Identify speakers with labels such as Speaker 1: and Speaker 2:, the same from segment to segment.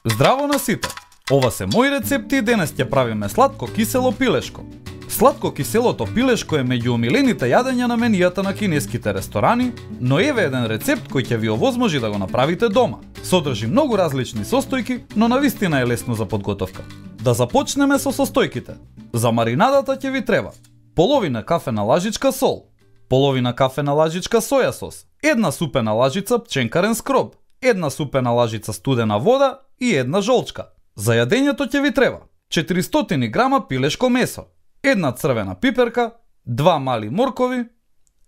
Speaker 1: Здраво на сите! Ова се мои рецепти и денес ќе правиме сладко кисело пилешко. Сладко киселото пилешко е меѓу омилените јадења на менијата на кинеските ресторани, но еве еден рецепт кој ќе ви овозможи да го направите дома. Содржи многу различни состојки, но навистина е лесно за подготовка. Да започнеме со состојките. За маринадата ќе ви треба половина кафена лажичка сол, половина кафена лажичка соја сос, една супена лажица пченкарен скроб, една супена лажица студена вода и една жолчка. За јадењето ќе ви треба 400 грама пилешко месо, една црвена пиперка, 2 мали моркови,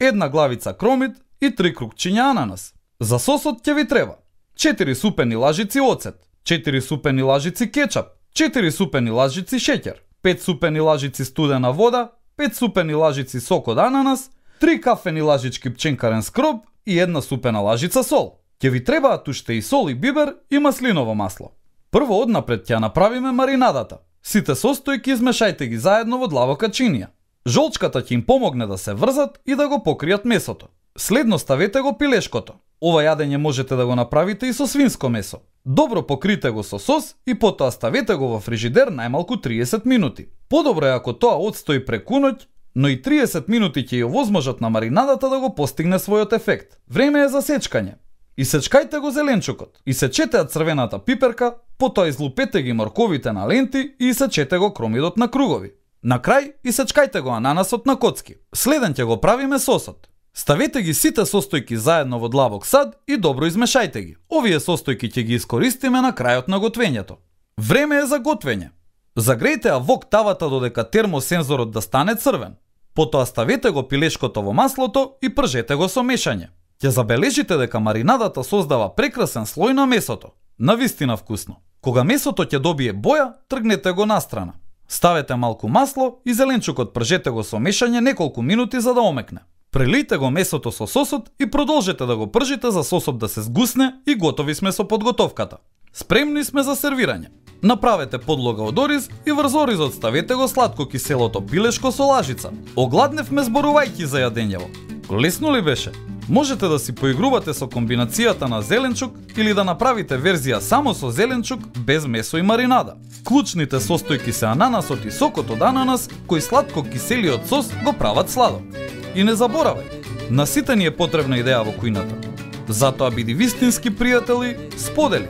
Speaker 1: една главица кромит и 3 крупчиња ананас. За сосот ќе ви треба 4 супени лажици оцет, 4 супени лажици кетчап, 4 супени лажици шеќер, 5 супени лажици студена вода, 5 супени лажици сок од ананас, 3 кафени лажички пченкарен скроб и една супена лажица сол. Ќе ви требаат уште и сол и бибер и маслиново масло. Прво однапред ќе направиме маринадата. Сите состојки измешајте ги заедно во длабока чинија. Жолчката ќе им помогне да се врзат и да го покријат месото. Следно ставете го пилешкото. Ова јадење можете да го направите и со свинско месо. Добро покрите го со сос и потоа ставете го во фрижидер најмалку 30 минути. Подобро е ако тоа одстои преку ноќ, но и 30 минути ќе ја овозможат на маринадата да го постигне својот ефект. Време е за сечкање. Исечкајте го зеленчукот, исечете ја црвената пиперка, потоа излупете ги морковите на ленти и исечете го кромидот на кругови. На крај исечкајте го ананасот на коцки. Следен ќе го правиме сосот. Ставете ги сите состојки заедно во длабок сад и добро измешајте ги. Овие состојки ќе ги искористиме на крајот на готвењето. Време е за готвење. Загрејте ја вок тавата додека термосензорот да стане црвен. Потоа ставете го пилешкото во маслото и пржете го со мешање. Ќе забележите дека маринадата создава прекрасен слој на месото. Навистина вкусно. Кога месото ќе добие боја, тргнете го настрана. Ставете малку масло и зеленчукот пржете го со мешање неколку минути за да омекне. Прелијте го месото со сосот и продолжете да го пржите за сосот да се згусне и готови сме со подготовката. Спремни сме за сервирање. Направете подлога од ориз и врз оризот ставете го сладко киселото пилешко со лажица. Огладневме зборувајќи за јадењево. Лесно ли беше? Можете да си поигрувате со комбинацијата на зеленчук или да направите верзија само со зеленчук без месо и маринада. Клучните состојки се ананасот и сокот од ананас, кој сладко киселиот сос го прават сладок. И не заборавај, на сите ни е потребна идеја во кујната. Затоа биди вистински пријатели, сподели.